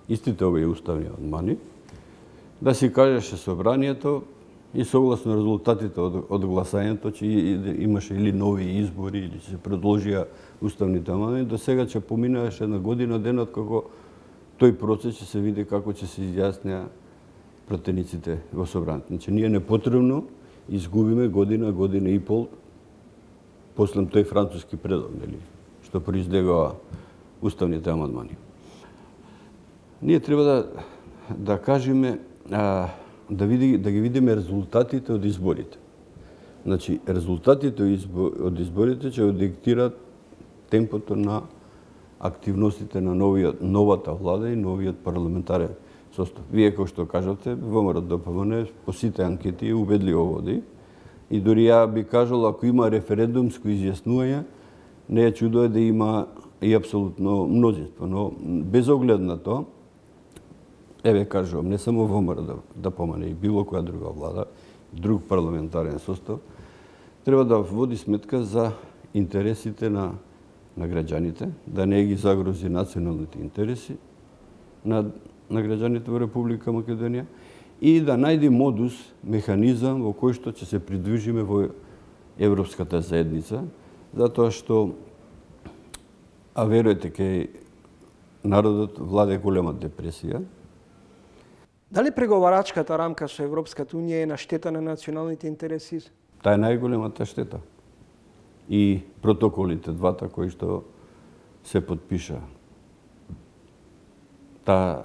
истите овие уставни амандмани, да си кажеше собранието и согласно резултатите од, од гласањето че имаше или нови избори или се предложија уставните амандмани, до сега ќе поминаше една година дена како тој процес ќе се види како ќе се изјаснеа пратениците во собранието. Значи ние не потребно изгубиме година, година и пол после тој француски предок, нели, што произлегува уставните амандмани. Ние треба да да кажеме а, да види да ги видиме резултатите од изборите. Значи резултатите од изборите ќе диктираат темпото на активностите на новиот новата влада и новиот парламентарен состав. Вие како што кажавте, ВМРО-ДПМН по сите анкети убедливо води. И дури ја би кажал, ако има референдумско изјаснување, не е чудо е да има и апсолутно мнозинство, но без оглед на тоа, еве кажувам, не само ВМРО да, да помане и било која друга влада, друг парламентарен состав, треба да води сметка за интересите на, на граѓаните, да не ги загрози националните интереси на, на граѓаните во Република Македонија и да најде модус, механизам во кој што ќе се придвижиме во Европската заедница, затоа што, а веруете, кај народот владе голема депресија. Дали преговарачката рамка со Европската Унија е на штета на националните интереси? Таа е најголемата штета. И протоколите, двата кои што се подпиша. Таа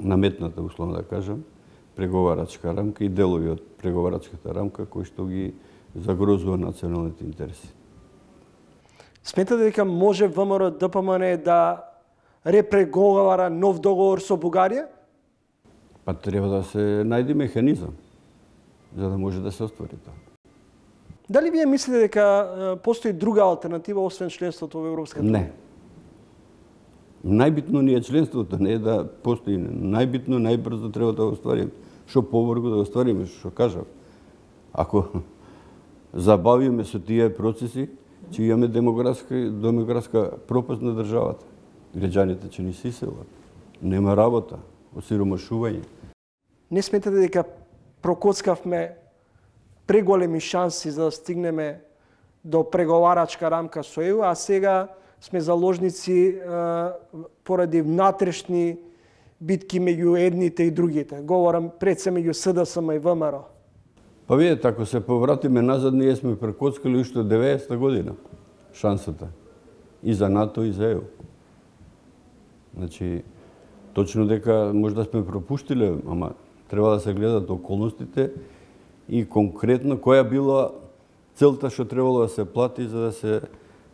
наметната, условно да кажам, преговарачка рамка и делови од преговарачката рамка кои што ги загрозува националните интереси. Сметате дека може ВМРО ДПМН да репреговара нов договор со Бугарија? Па треба да се најде механизам за да може да се оствари тоа. Дали вие мислите дека постои друга алтернатива освен членството во Европската Унија? Не. Најбитно не е членството, не е да постои. Најбитно, најбрзо треба да го оствариме. Што побрзо да го оствариме, што кажав. Ако забавиме со тие процеси, ќе имаме демографска, демографска пропаст на државата. Граѓаните ќе ни се иселат. Нема работа, осиромашување. Не сметате дека прокоцкавме преголеми шанси за да стигнеме до преговарачка рамка со ЕУ, а сега сме заложници е, поради внатрешни битки меѓу едните и другите. Говорам пред се меѓу СДСМ и ВМРО. Па видите, ако се повратиме назад, ние сме прекоцкали уште од деветдесета година шансата. И за НАТО, и за ЕУ. Значи, точно дека може да сме пропуштиле, ама треба да се гледат околностите и конкретно која била целта што требало да се плати за да се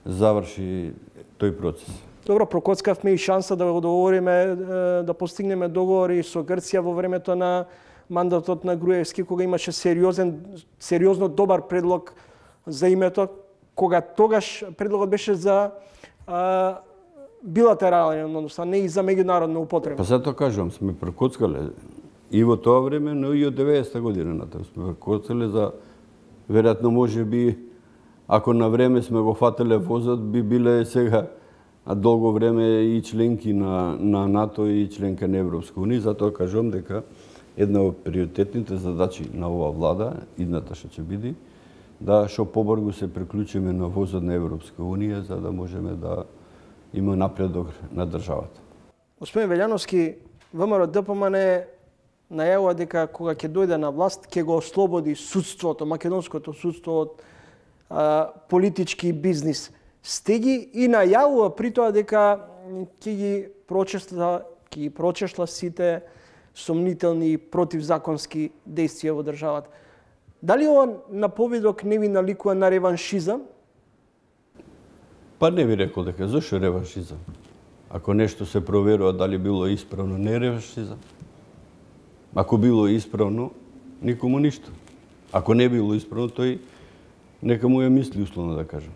заврши тој процес. Добро, прокоцкавме и шанса да го договориме, да постигнеме договори со Грција во времето на мандатот на Груевски, кога имаше сериозен, сериозно добар предлог за името, кога тогаш предлогот беше за а, билатерален, односно не и за меѓународна употреба. Па затоа кажувам, сме прекоцкале и во тоа време, но и од деветдесета година натаму сме прекоцкале за, веројатно може би, ако на време сме го фателе возот, би биле сега долго време и членки на, на НАТО и членка на Европска унија. Затоа кажувам дека една од приоритетните задачи на оваа влада, идната што ќе биде, да што побрзо се приклучиме на возот на Европска унија, за да можеме да има напредок на државата. Господин Велјановски, ВМРО ДПМН најавува дека кога ќе дојде на власт, ќе го ослободи судството, македонското судство од а, политички бизнис. Сте ги и најавува при тоа дека ќе ги прочешла, ќе ги прочешла сите сомнителни и противзаконски действија во државата. Дали ова наповедок не ви наликува на реваншизам? Па не ви рекол дека зошто реваншизам. Ако нешто се проверува дали било исправно, не е реваншизам. Ако било исправно, никому ништо. Ако не било исправно, тој нека му ја мисли, условно да кажам.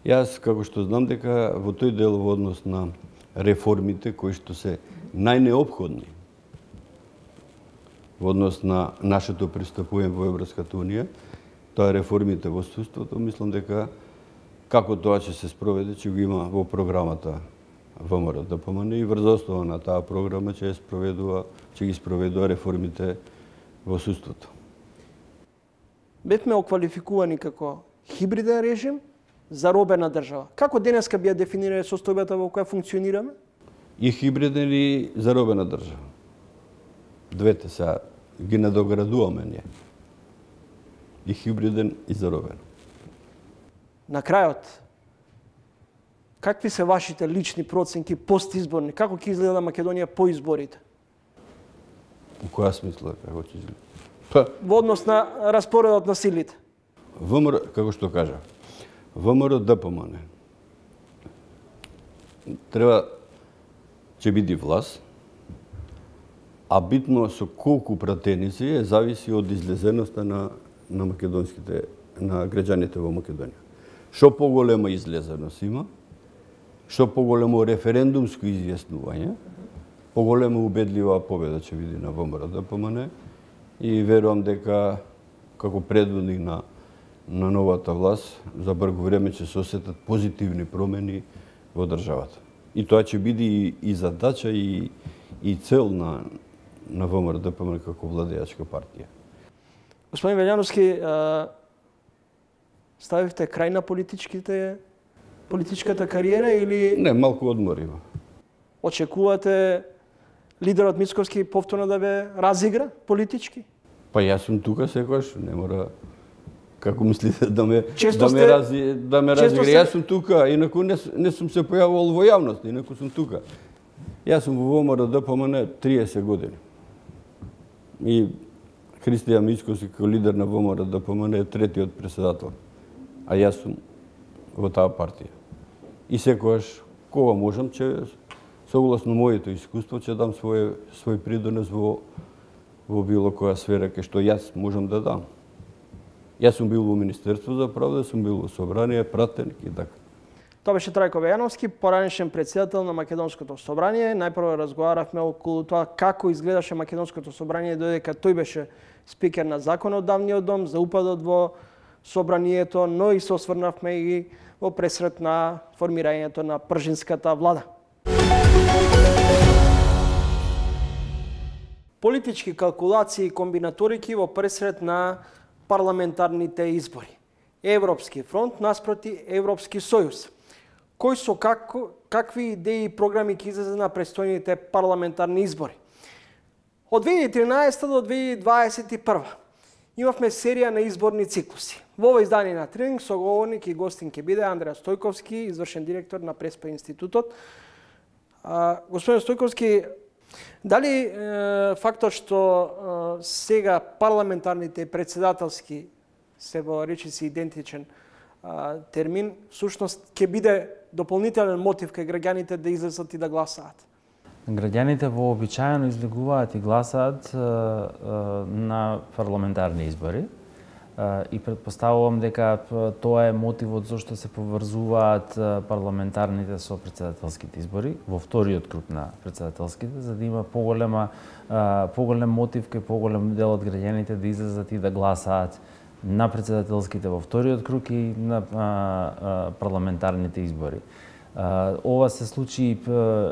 Јас, како што знам дека во тој дел во однос на реформите кои што се најнеопходни во однос на нашето пристапување во Европската унија, тоа реформите во судството, мислам дека како тоа ќе се спроведе, ќе го има во програмата ВМРО ДПМН и врз основа на таа програма ќе спроведува, ќе ги спроведува реформите во судството. Бевме оквалификувани како хибриден режим, заробена држава. Како денеска би ја дефинирале состојбата во која функционираме? И хибриден и заробена држава. Двете се ги надоградуваме ние. И хибриден и заробен. На крајот, какви се вашите лични проценки постизборни? Како ќе изгледа Македонија по изборите? Во која смисла како ќе изгледа? Па, во однос на распоредот на силите? ВМРО, како што кажа, ВМРО ДПМН треба ќе биде власт, а битно со колку пратеници е зависи од излезеноста на, на македонските, на граѓаните во Македонија. Што поголема излезеност има, што поголемо референдумско изјаснување, поголемо убедлива победа ќе биде на ВМРО-ДПМН и верувам дека како предводник на на новата власт за брзо време ќе се осетат позитивни промени во државата. И тоа ќе биде и, и задача и и цел на на ВМРО-ДПМН како владеачка партија. Господин Велјановски, ставивте крај на политичките политичката кариера или Не, малку одмор има. Очекувате лидерот Мицковски повторно да ве разигра политички? Па јас сум тука секогаш, не мора како мислите да ме Често да сте- ме рази да ме често разигра. сте- Јас сум тука, инаку не, с- не сум се појавувал во јавност, инаку сум тука. Јас сум во ВМРО-ДПМН триесет години. И Христијан Мицковски како лидер на ВМРО-ДПМН е третиот председател. А јас сум во таа партија. И секогаш кога можам ќе согласно моето искуство ќе дам свој свој придонес во во било која сфера кај што јас можам да дам. Јас сум бил во Министерство за правда, сум бил во собрание, пратеник и така. Тоа беше Трајко Велјановски, поранешен председател на Македонското собрание. Најпрво разговаравме околу тоа како изгледаше Македонското собрание додека тој беше спикер на законодавниот дом за упадот во собранието, но и се осврнавме и во пресрет на формирањето на пржинската влада. Политички калкулации и комбинаторики во пресрет на парламентарните избори. Европски фронт наспроти Европски сојуз. Кој со како, какви идеи и програми ќе излезе на престојните парламентарни избори? Од две илјади и тринаесета до две илјади дваесет и прва имавме серија на изборни циклуси. Во ова издание на Тренинг соговорник и гостин ќе биде Андреа Стојковски, извршен директор на Преспа институтот. А, господин Стојковски, дали е, фактот што е, сега парламентарните и председателски се во речиси идентичен а, термин, всушност ќе биде дополнителен мотив кај граѓаните да излезат и да гласаат? Граѓаните вообичаено излегуваат и гласаат е, е, на парламентарни избори е, и предпоставувам дека п- тоа е мотивот зашто се поврзуваат е, парламентарните со председателските избори во вториот круг на председателските, за да има поголема е, поголем мотив кај поголем дел од граѓаните да излезат и да гласаат на председателските во вториот круг и на а, а, парламентарните избори. А, ова се случи,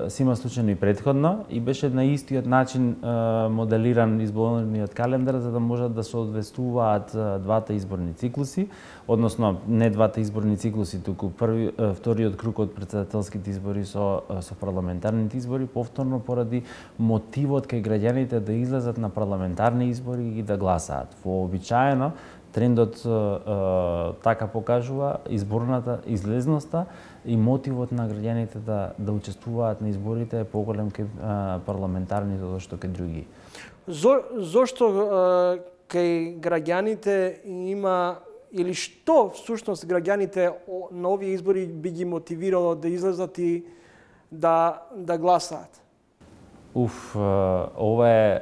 се има случајно и претходно и беше на истиот начин а, моделиран изборниот календар за да можат да се одвестуваат а, двата изборни циклуси, односно не двата изборни циклуси, туку први, а, вториот круг од председателските избори со со парламентарните избори, повторно поради мотивот кај граѓаните да излезат на парламентарни избори и да гласаат. Вообичаено трендот е, е, така покажува изборната излезноста и мотивот на граѓаните да да учествуваат на изборите е поголем кај е, парламентарните зашто кај други. Зо, зошто е, кај граѓаните има или што всушност граѓаните о- на овие избори би ги мотивирало да излезат и да да гласаат? Уф, е, ова е е,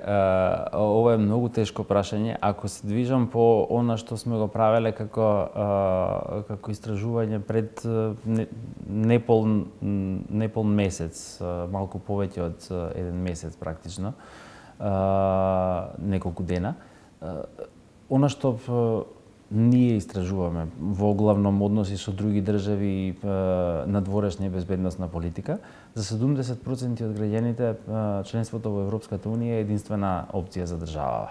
ова е многу тешко прашање. Ако се движам по она што сме го правеле како е, како истражување пред е, не- непол непол месец, е, малку повеќе од е, еден месец практично, е, неколку дена. Е, Она што е, ние истражуваме во главном односи со други држави и е, надворешна и безбедносна политика, за седумдесет проценти од граѓаните е, членството во Европската унија е единствена опција за државава.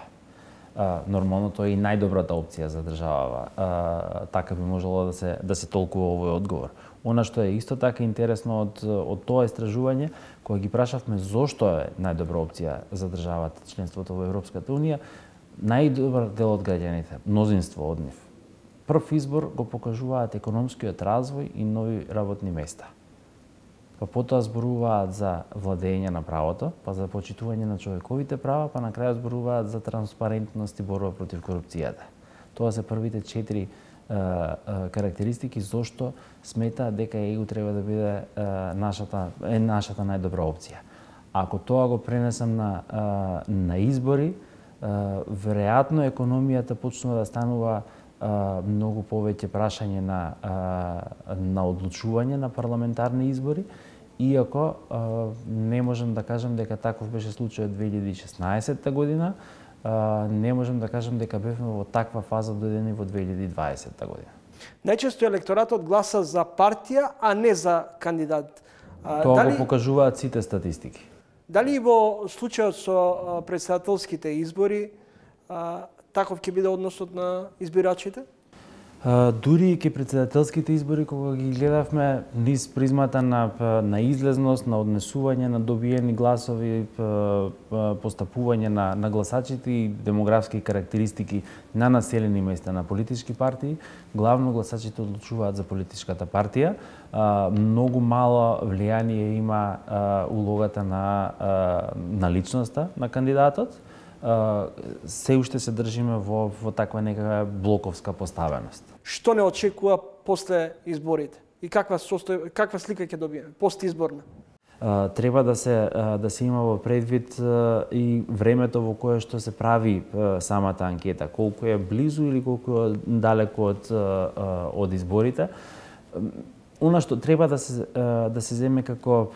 Е, Нормално тоа е и најдобрата опција за државава. Е, Така би можело да се да се толкува овој одговор. Она што е исто така интересно од од тоа истражување, кога ги прашавме зошто е најдобра опција за државата членството во Европската унија, најдобар дел од граѓаните, мнозинство од нив, прв избор го покажуваат економскиот развој и нови работни места. Па потоа зборуваат за владење на правото, па за почитување на човековите права, па на крајот зборуваат за транспарентност и борба против корупцијата. Тоа се првите четири е, е, карактеристики зошто смета дека ЕУ треба да биде е, нашата е нашата најдобра опција. Ако тоа го пренесам на е, на избори, Uh, веројатно економијата почнува да станува многу повеќе прашање на, на одлучување на парламентарни избори, иако не можам да кажам дека таков беше случајот две илјади и шеснаесетта година, не можам да кажам дека бевме во таква фаза дојдени во две илјади и дваесетта година. Најчесто електоратот гласа за партија, а не за кандидат. Тоа дали... го покажуваат сите статистики. Дали во случајот со претседателските избори таков ќе биде односот на избирачите? Uh, дури и ке председателските избори, кога ги гледавме низ призмата на, на излезност, на однесување на добиени гласови, постапување на, на гласачите и демографски карактеристики на населени места на политички партии, главно гласачите одлучуваат за политичката партија. Uh, многу мало влијание има uh, улогата на, uh, на личноста на кандидатот. Uh, се уште се држиме во, во таква некаква блоковска поставеност. Што не очекува после изборите? И каква состој, каква слика ќе добиеме постизборна? Uh, треба да се uh, да се има во предвид uh, и времето во кое што се прави uh, самата анкета, колку е близу или колку е далеко од uh, uh, од изборите. Она што треба да се да се земе како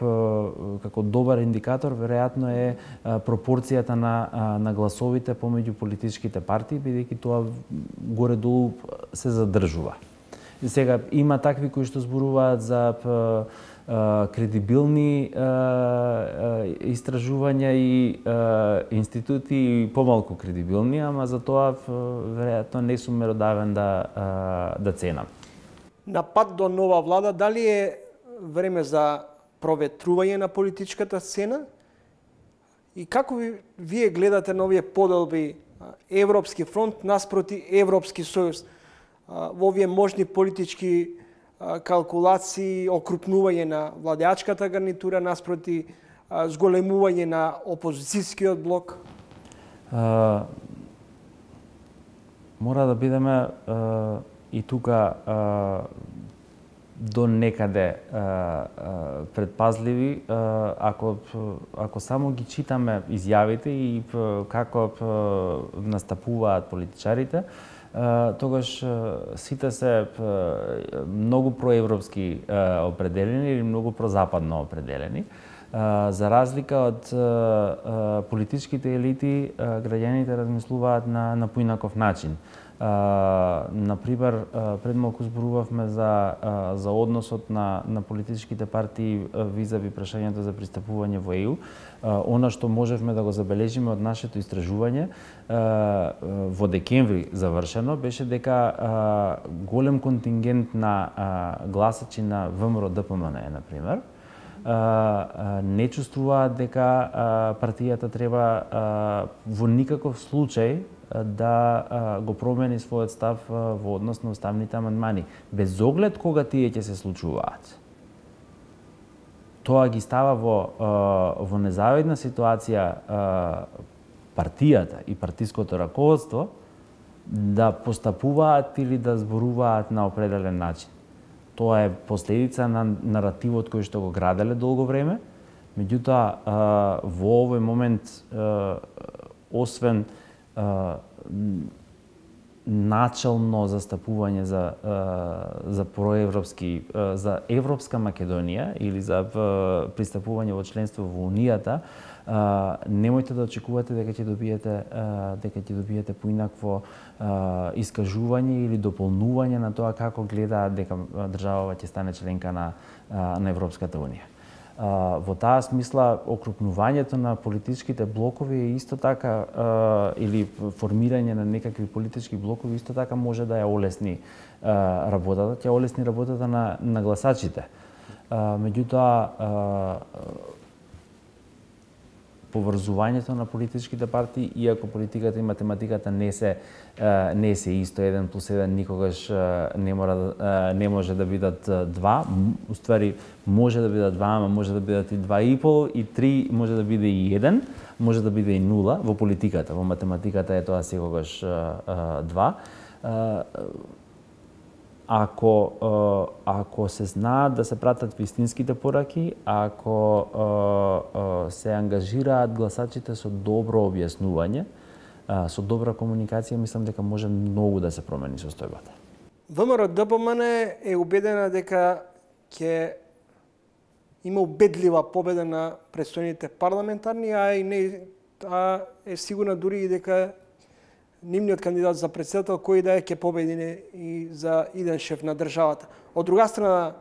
како добар индикатор веројатно е пропорцијата на на гласовите помеѓу политичките партии, бидејќи тоа горе-долу се задржува. И сега има такви кои што зборуваат за кредибилни истражувања и институти и помалку кредибилни, ама за тоа веројатно не сум меродавен да да ценам. На пат до нова влада, дали е време за проветрување на политичката сцена? И како ви, вие гледате на овие поделби Европски фронт наспроти Европски сојуз во овие можни политички калкулации, окрупнување на владеачката гарнитура наспроти зголемување на опозицијскиот блок? А, мора да бидеме а... и тука а, до некаде а, а, предпазливи, а, ако, ако само ги читаме изјавите и а, како а, настапуваат политичарите, а, тогаш а, сите се а, многу проевропски а, определени или многу прозападно определени. А, за разлика од а, политичките елити, а, граѓаните размислуваат на, на поинаков начин. Uh, например, uh, пред малку зборувавме за, uh, за односот на, на политичките партии uh, визави прашањето за пристапување во Е Ју. Uh, она што можевме да го забележиме од нашето истражување uh, uh, во декември завршено беше дека uh, голем контингент на uh, гласачи на Вэ Ем Ро Д П М Н Е, например, Uh, uh, не чувствуваат дека uh, партијата треба uh, во никаков случај uh, да uh, го промени својот став uh, во однос на уставните амандмани, без оглед кога тие ќе се случуваат. Тоа ги става во, uh, во незавидна ситуација uh, партијата и партиското раководство да постапуваат или да зборуваат на определен начин. Тоа е последица на наративот кој што го граделе долго време. Меѓутоа, во овој момент, освен начално застапување за за проевропски, за европска Македонија или за пристапување во членство во Унијата, немојте да очекувате дека ќе добиете дека ќе добиете поинакво искажување или дополнување на тоа како гледаат дека државава ќе стане членка на на Европската Унија. Во таа смисла, окрупнувањето на политичките блокови е исто така, или формирање на некакви политички блокови исто така може да ја олесни работата, ќе олесни работата на, на гласачите. Меѓутоа, поврзувањето на политичките партии, иако политиката и математиката не се не се исто, еден плюс еден никогаш не мора не може да бидат два, уствари може да бидат два, ама може да бидат и два и пол, и три, може да биде и еден, може да биде и нула во политиката, во математиката е тоа секогаш два. Ако, ако се знаат да се пратат вистинските пораки, ако се ангажираат гласачите со добро објаснување, со добра комуникација, мислам дека може многу да се промени состојбата. ВМРО-ДПМН е убедена дека ќе има убедлива победа на предстојните парламентарни, а и не а е сигурна дури и дека нивниот кандидат за претседател кој да е ќе победи и за иден шеф на државата. Од друга страна,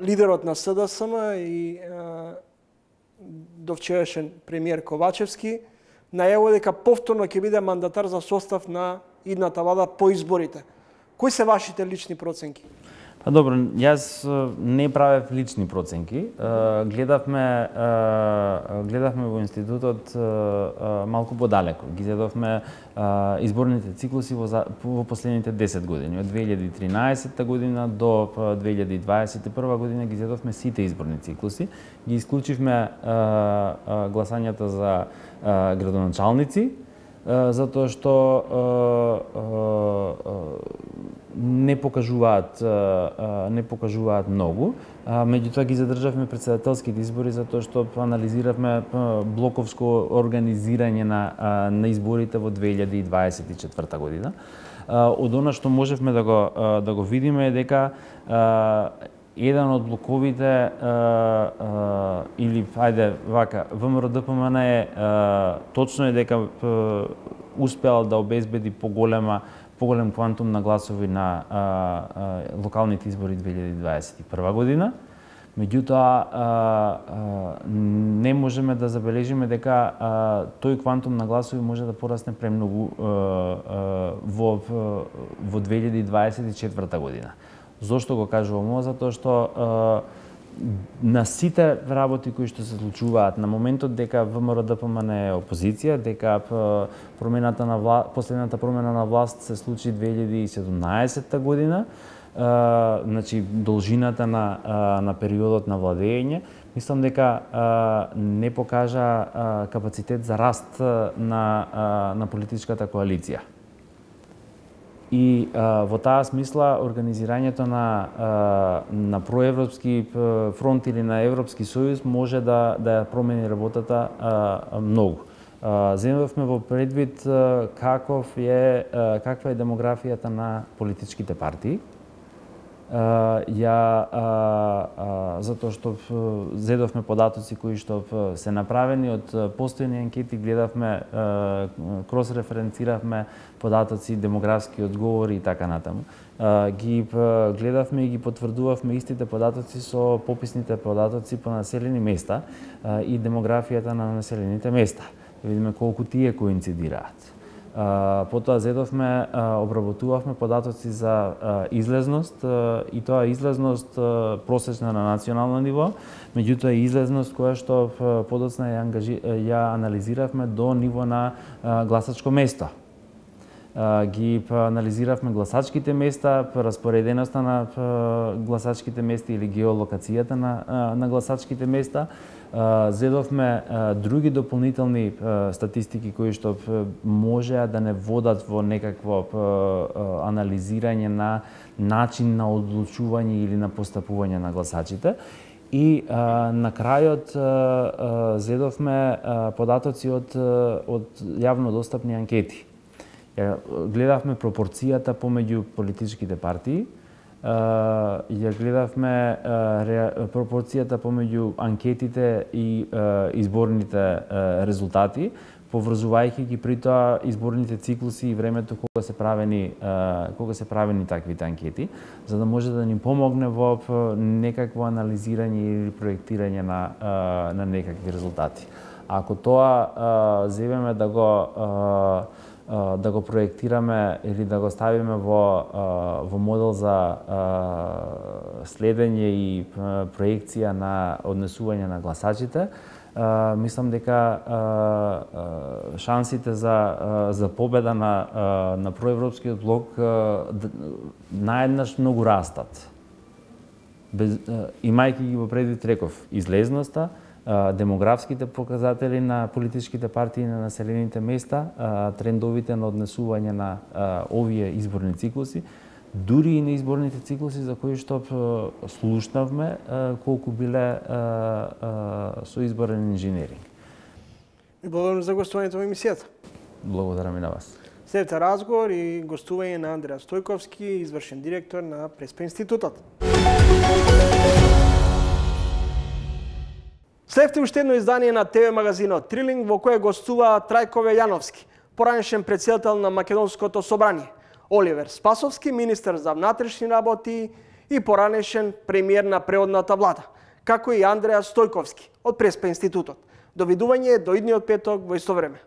лидерот на СДСМ и довчерашен премиер Ковачевски најавува дека повторно ќе биде мандатар за состав на идната влада по изборите. Кои се вашите лични проценки? Па добро, јас не правев лични проценки. Гледавме гледавме во институтот малку подалеку. Ги гледавме изборните циклуси во, во последните десет години, од две илјади и тринаесетта година до две илјади и дваесет и прва година ги гледавме сите изборни циклуси. Ги исклучивме гласањата за градоначалници, затоа што не покажуваат не покажуваат многу. Меѓутоа ги задржавме председателските избори затоа што анализиравме блоковско организирање на на изборите во две илјади и дваесет и четврта година. Од она што можевме да го да го видиме е дека еден од блоковите или ајде вака ВМРО-ДПМН е точно е дека успеал да обезбеди поголема поголем квантум на гласови на а, а, локалните избори две илјади дваесет и прва година. Меѓутоа, а, а, не можеме да забележиме дека а, тој квантум на гласови може да порасне премногу а, а, во, во две илјади дваесет и четврта година. Зошто го кажувам ова? Затоа што а, на сите работи кои што се случуваат на моментот дека ВМРО-ДПМН е опозиција, дека промената на вла... последната промена на власт се случи две илјади и седумнаесетта година, а, значи должината на на периодот на владење, мислам дека а, не покажа а, капацитет за раст на а, на политичката коалиција. И а, во таа смисла организирањето на а, на проевропски фронт или на Европски сојуз може да да ја промени работата а, многу. А, земавме во предвид а, каков е а, каква е демографијата на политичките партии. Uh, ја uh, uh, затоа што uh, зедовме податоци кои што uh, се направени од uh, постојни анкети, гледавме, uh, крос-референциравме податоци, демографски одговори и така натаму. Uh, ги uh, гледавме и ги потврдувавме истите податоци со пописните податоци по населени места uh, и демографијата на населените места. Да видиме колку тие коинцидираат. Uh, потоа зедовме, uh, обработувавме податоци за uh, излезност uh, и тоа излезност uh, просечна на национално ниво, меѓутоа и излезност која што uh, подоцна ја, ангажи, ја анализиравме до ниво на uh, гласачко место. Uh, ги uh, анализиравме гласачките места, распореденоста на uh, гласачките места или геолокацијата на, uh, на гласачките места. Uh, зедовме uh, други дополнителни uh, статистики кои што uh, можеа да не водат во некакво uh, uh, анализирање на начин на одлучување или на постапување на гласачите. И uh, на крајот uh, uh, зедовме uh, податоци од, uh, од јавно достапни анкети. Uh, гледавме пропорцијата помеѓу политичките партии, Uh, ја гледавме uh, ре, пропорцијата помеѓу анкетите и uh, изборните uh, резултати, поврзувајќи ги при тоа изборните циклуси и времето кога се правени uh, кога се правени таквите анкети, за да може да ни помогне во некакво анализирање или проектирање на uh, на некакви резултати. Ако тоа uh, зевеме да го uh, да го проектираме или да го ставиме во во модел за следење и проекција на однесување на гласачите, мислам дека шансите за за победа на на проевропскиот блок наеднаш многу растат. Без, имајќи ги во предвид реков излезноста, демографските показатели на политичките партии на населените места, трендовите на однесување на овие изборни циклуси, дури и на изборните циклуси за кои што слушнавме колку биле со изборен инженеринг. И благодарам за гостувањето во емисијата. Благодарам и на вас. Следете разговор и гостување на Андреа Стојковски, извршен директор на Преспа институтот. Следете уште едно издание на ТВ магазинот Трилинг, во кое гостува Трајко Јановски, поранешен претседател на Македонското собрание, Оливер Спасовски, министер за внатрешни работи и поранешен премиер на преодната влада, како и Андреа Стојковски од Преспа институтот. До видување до идниот петок во исто време.